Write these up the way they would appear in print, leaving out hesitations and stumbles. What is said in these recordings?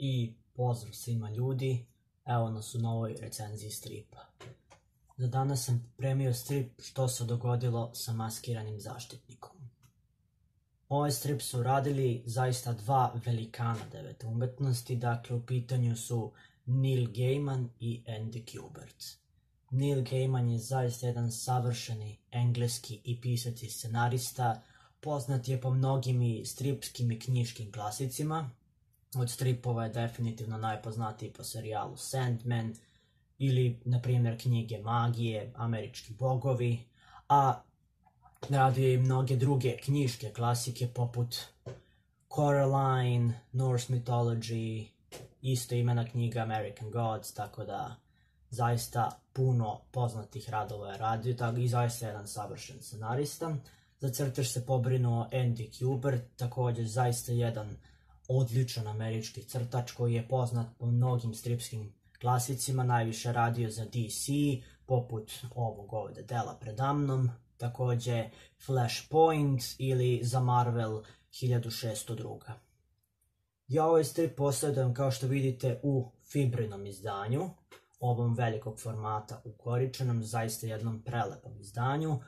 I pozdrav svima ljudi, evo nas u novoj recenziji stripa. Za danas sam pripremio strip Što se dogodilo sa maskiranim zaštitnikom. Ovaj strip su radili zaista dva velikana devete umetnosti, dakle u pitanju su Neil Gaiman i Andy Kubert. Neil Gaiman je zaista jedan savršeni engleski i pisac i scenarista, poznat je po mnogim i stripskim i knjiškim klasicima. Od stripova je definitivno najpoznatiji po serijalu Sandman ili, na primjer, knjige Magije, Američki bogovi, a radio je i mnoge druge knjiške klasike poput Coraline, Norse Mythology, isto imena knjiga American Gods, tako da zaista puno poznatih radova je radio i zaista jedan savršen scenarista. Za crtež se pobrinuo Andy Kubert, također zaista jedan odličan američki crtač koji je poznat po mnogim stripskim klasicima, najviše radio za DC, poput ovog ovdje dela predamnom, također Flashpoint ili za Marvel 1602. Ja ovaj strip posjedujem, kao što vidite, u fibrinom izdanju, ovom velikog formata ukoričenom, zaista jednom prelepom izdanju,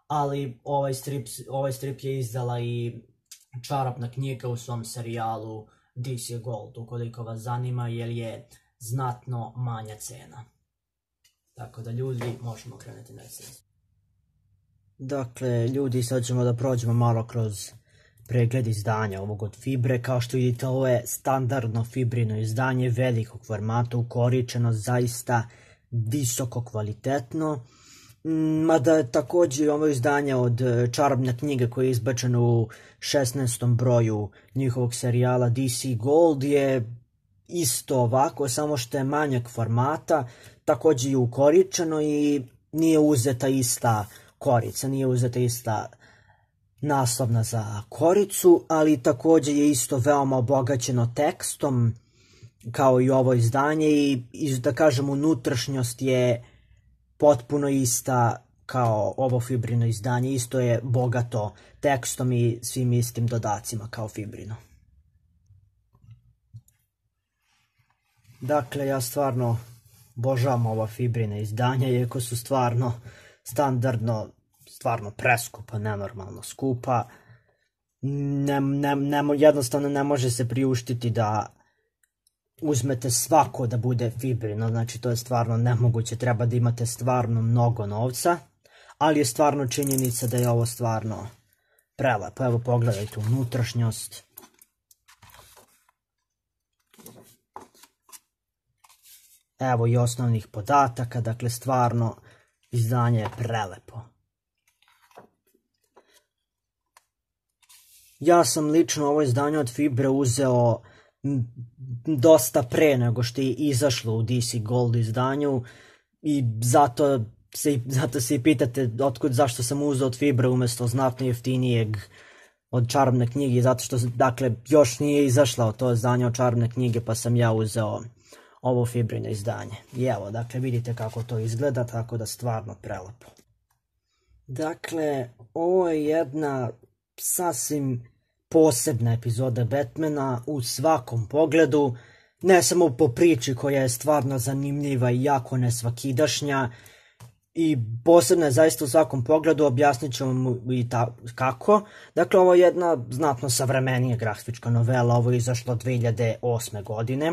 ali ovaj strip je izdala i čarobna knjiga u svom serijalu DC Gold, ukoliko vas zanima, jer je znatno manja cena. Tako da ljudi, možemo krenuti na recenziju. Dakle, ljudi, sad ćemo da prođemo malo kroz pregled izdanja ovog od fibre. Kao što vidite, ovo je standardno fibrino izdanje velikog formata, ukoričeno, zaista visoko kvalitetno. Mada je također ovo izdanje od čarobne knjige koje je izbačeno u 16. broju njihovog serijala DC Gold je isto ovako, samo što je manjak formata, također je ukoričeno i nije uzeta ista korica, nije uzeta ista naslovna za koricu, ali također je isto veoma obogaćeno tekstom kao i ovo izdanje i da kažem unutrašnjost je potpuno ista kao ovo fibrino izdanje, isto je bogato tekstom i svim istim dodacima kao fibrino. Dakle, ja stvarno obožavam ova fibrina izdanja, iako su stvarno standardno, stvarno preskupa, nenormalno skupa. Jednostavno ne može se priuštiti da uzmete svako da bude fibrino, znači to je stvarno nemoguće, treba da imate stvarno mnogo novca, ali je stvarno činjenica da je ovo stvarno prelepo. Evo pogledajte unutrašnjost. Evo i osnovnih podataka, dakle stvarno izdanje je prelepo. Ja sam lično ovo izdanje od fibre uzeo dosta pre nego što je izašlo u DC Gold izdanju i zato se i pitate zašto sam uzeo od fibre umjesto znatno jeftinijeg od čarobne knjige, zato što dakle još nije izašlo to izdanje od čarobne knjige, pa sam ja uzeo ovo fibrino izdanje. I evo, dakle vidite kako to izgleda, tako da stvarno prelepo. Dakle, ovo je jedna sasvim posebna epizoda Batmana u svakom pogledu, ne samo po priči koja je stvarno zanimljiva i jako nesvakidašnja, i posebna je zaista u svakom pogledu, objasnit ću vam i kako. Dakle, ovo je jedna znatno savremenija grafička novela, ovo je izašlo 2008. godine.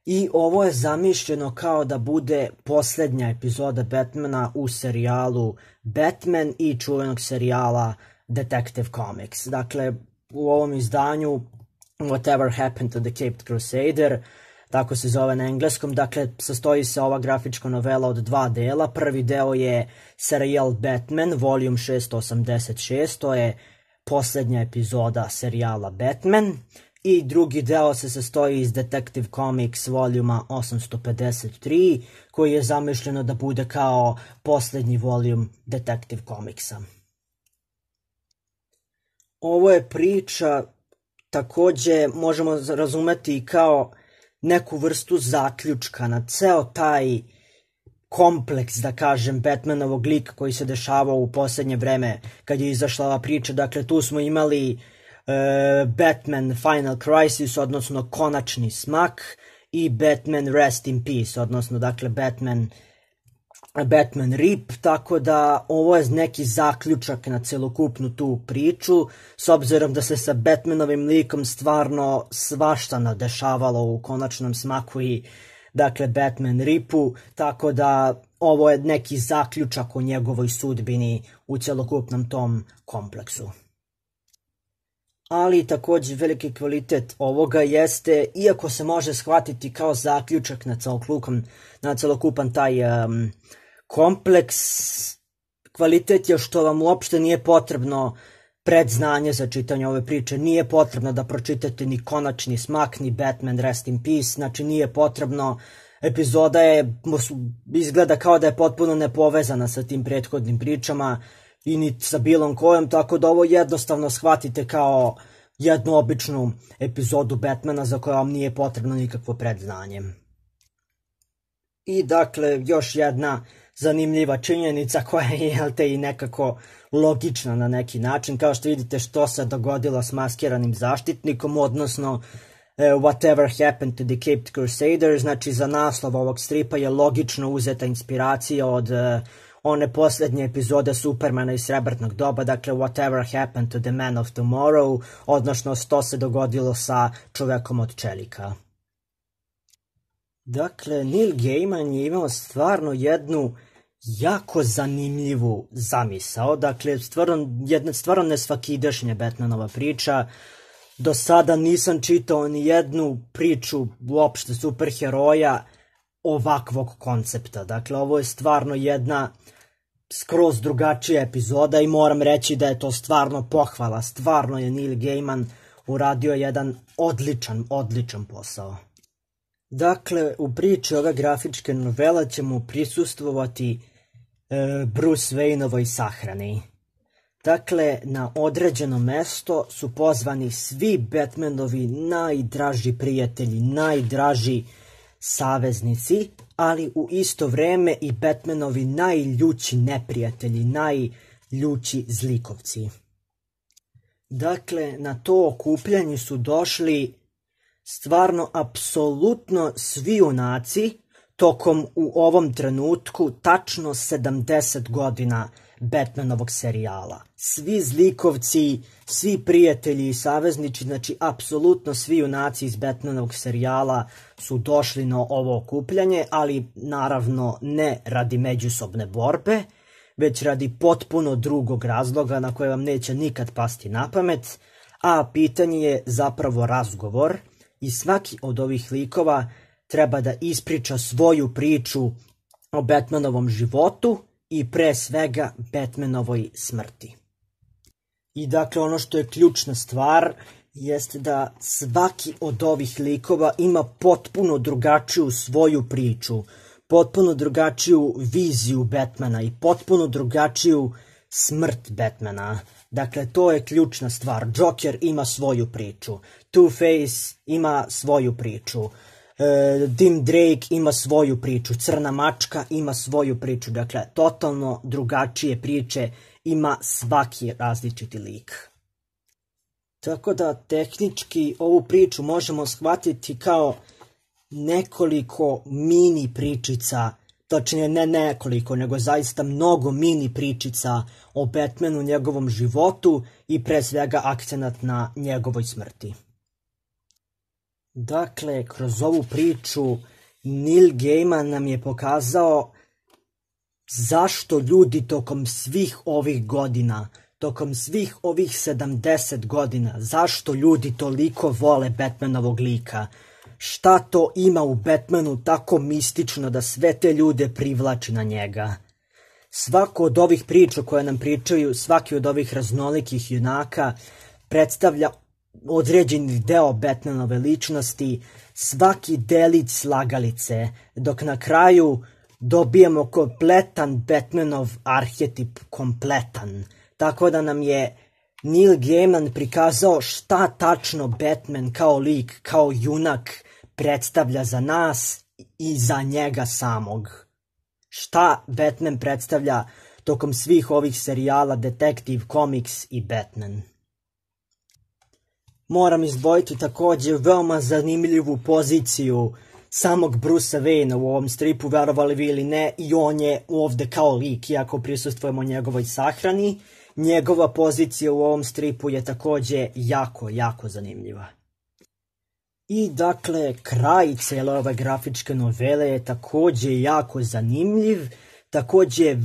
I ovo je zamišljeno kao da bude posljednja epizoda Batmana u serijalu Batman i čuvenog serijala Detective Comics. Dakle, u ovom izdanju Whatever Happened to the Caped Crusader, tako se zove na engleskom, dakle sastoji se ova grafička novela od dva dela. Prvi deo je serijal Batman, volume 686, to je posljednja epizoda serijala Batman. I drugi deo se sastoji iz Detective Comics voljuma 853, koji je zamišljeno da bude kao posljednji voljum Detective Comicsa. Ovo je priča, također možemo razumeti kao neku vrstu zaključka na ceo taj kompleks, da kažem, Batmanovog lika koji se dešavao u posljednje vreme kad je izašla ova priča. Dakle, tu smo imali Batman Final Crisis, odnosno Konačni smak, i Batman Rest in Peace, odnosno dakle Batman Rip, tako da ovo je neki zaključak na celokupnu tu priču, s obzirom da se sa Batmanovim likom stvarno svašta nadešavalo u Konačnom smaku i dakle Batman Ripu, tako da ovo je neki zaključak o njegovoj sudbini u celokupnom tom kompleksu. Ali također veliki kvalitet ovoga jeste, iako se može shvatiti kao zaključak na celokupan taj kompleks, kvalitet je što vam uopšte nije potrebno predznanje za čitanje ove priče, nije potrebno da pročitate ni Konačni smak, ni Batman Rest in Peace, znači nije potrebno, epizoda izgleda kao da je potpuno nepovezana sa tim prethodnim pričama i ni sa bilom kojom, tako da ovo jednostavno shvatite kao jednu običnu epizodu Batmana za koju vam nije potrebno nikakvo predznanje. I dakle, još jedna zanimljiva činjenica koja je i nekako logična na neki način, kao što vidite što se dogodilo s maskiranim zaštitnikom, odnosno Whatever Happened to the Caped Crusader, znači za naslov ovog stripa je logično uzeta inspiracija od one posljednje epizode Supermana iz Srebrnog doba, dakle Whatever Happened to the Man of Tomorrow, odnosno što se dogodilo sa čovekom od čelika. Dakle, Neil Gaiman je imao stvarno jednu jako zanimljivu zamisao, dakle stvarno nesvakidašnja Batmanova priča. Do sada nisam čitao ni jednu priču uopšte superheroja ovakvog koncepta, dakle ovo je stvarno jedna skroz drugačija epizoda i moram reći da je to stvarno pohvala, stvarno je Neil Gaiman uradio jedan odličan posao. Dakle, u priči ove grafičke novela ćemo prisustvovati Bruce Wayneovoj sahrani. Dakle, na određeno mesto su pozvani svi Batmanovi najdraži prijatelji, najdraži saveznici, ali u isto vreme i Batmanovi najljući neprijatelji, najljući zlikovci. Dakle, na to okupljanje su došli stvarno apsolutno svi junaci tokom u ovom trenutku tačno 70 godina Batmanovog serijala. Svi zlikovci, svi prijatelji i saveznici, znači apsolutno svi junaci iz Batmanovog serijala su došli na ovo okupljanje, ali naravno ne radi međusobne borbe, već radi potpuno drugog razloga na koje vam neće nikad pasti na pamet, a pitanje je zapravo razgovor i svaki od ovih likova treba da ispriča svoju priču o Batmanovom životu i pre svega Batmanovoj smrti. I dakle ono što je ključna stvar jeste da svaki od ovih likova ima potpuno drugačiju svoju priču, potpuno drugačiju viziju Batmana i potpuno drugačiju smrt Batmana. Dakle, to je ključna stvar. Joker ima svoju priču, Two-Face ima svoju priču, Tim Drake ima svoju priču, Crna mačka ima svoju priču, dakle, totalno drugačije priče ima svaki različiti lik. Tako da, tehnički, ovu priču možemo shvatiti kao nekoliko mini pričica, točnije ne nekoliko, nego zaista mnogo mini pričica o Batmanu, njegovom životu i pre svega akcenat na njegovoj smrti. Dakle, kroz ovu priču Neil Gaiman nam je pokazao zašto ljudi tokom svih ovih godina, tokom svih ovih 70 godina, zašto ljudi toliko vole Batmanovog lika. Šta to ima u Batmanu tako mistično da sve te ljude privlači na njega? Svako od ovih priča koje nam pričaju, svaki od ovih raznolikih junaka predstavlja određeni deo Batmanove ličnosti, svaki delić slagalice, dok na kraju dobijemo kompletan Batmanov arhetip, kompletan. Tako da nam je Neil Gaiman prikazao šta tačno Batman kao lik, kao junak predstavlja za nas i za njega samog. Šta Batman predstavlja tokom svih ovih serijala Detective Comics i Batman. Moram izdvojiti također veoma zanimljivu poziciju samog Brucea Wayne u ovom stripu, verovali vi ili ne, i on je ovdje kao lik, iako prisustvujemo njegovoj sahrani. Njegova pozicija u ovom stripu je također jako zanimljiva. I dakle, kraj cijele ove grafičke novele je također jako zanimljiv, također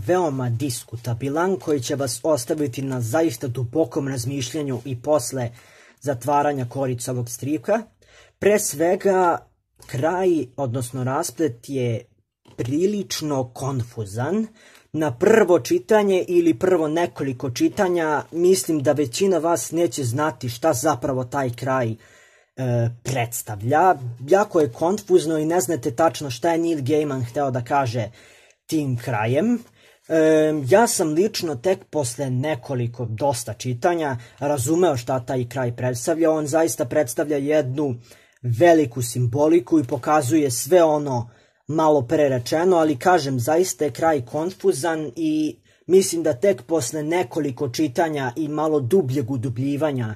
veoma diskutabilan, koji će vas ostaviti na zaista dubokom razmišljanju i posle zatvaranja korica ovog stripa. Pre svega, kraj, odnosno rasplet je prilično konfuzan. Na prvo čitanje ili prvo nekoliko čitanja mislim da većina vas neće znati šta zapravo taj kraj predstavlja. Jako je konfuzno i ne znate tačno šta je Neil Gaiman hteo da kaže tim krajem. Ja sam lično tek posle nekoliko dosta čitanja razumeo šta taj kraj predstavlja. On zaista predstavlja jednu veliku simboliku i pokazuje sve ono malo pre rečeno, ali kažem, zaista je kraj konfuzan i mislim da tek posle nekoliko čitanja i malo dubljeg udubljivanja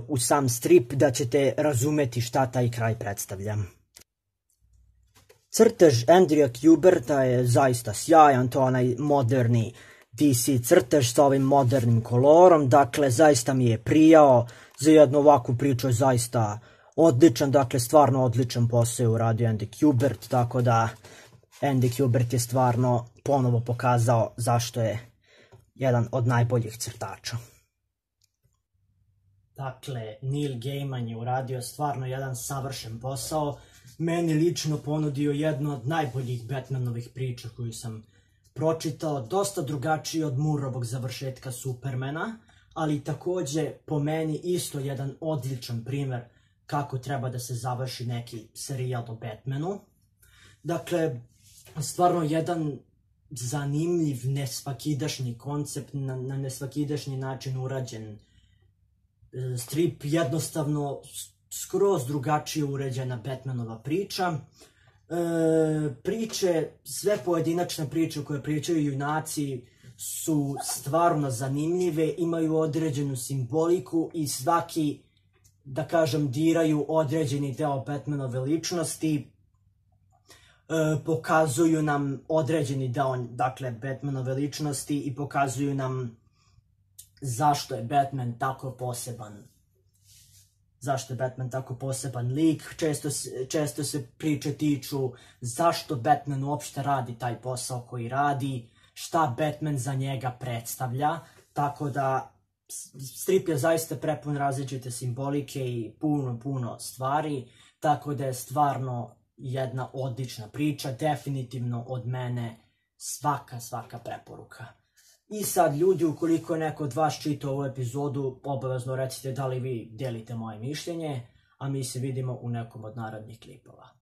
u sam strip da ćete razumeti šta taj kraj predstavlja. Crtež Andrewa Kuberta je zaista sjajan, to onaj moderni DC crtež sa ovim modernim kolorom, dakle zaista mi je prijao, za jednu ovakvu priču je zaista odličan, dakle stvarno odličan posao uradio Andy Kubert, tako da Andy Kubert je stvarno ponovo pokazao zašto je jedan od najboljih crtača. Dakle, Neil Gaiman je uradio stvarno jedan savršen posao, meni lično ponudio jednu od najboljih Batmanovih priča koju sam pročitao, dosta drugačiji od Mooreovog završetka Supermana, ali također po meni isto jedan odličan primer kako treba da se završi neki serijal o Batmanu. Dakle, stvarno jedan zanimljiv, nesvakidašnji koncept, na nesvakidašnji način urađen strip, jednostavno skroz drugačije uređena Batmanova priča. Priče, sve pojedinačne priče koje pričaju junaci su stvarno zanimljive, imaju određenu simboliku i svaki, da kažem, diraju određeni deo Batmanove ličnosti, pokazuju nam određeni deo, dakle, Batmanove ličnosti i pokazuju nam zašto je Batman tako poseban. Zašto je Batman tako poseban lik, često se priče tiču zašto Batman uopšte radi taj posao koji radi, šta Batman za njega predstavlja, tako da strip je zaista prepun različite simbolike i puno stvari, tako da je stvarno jedna odlična priča, definitivno od mene svaka preporuka. I sad ljudi, ukoliko je neko od vas čitao ovu epizodu, obavezno recite da li vi delite moje mišljenje, a mi se vidimo u nekom od narednih klipova.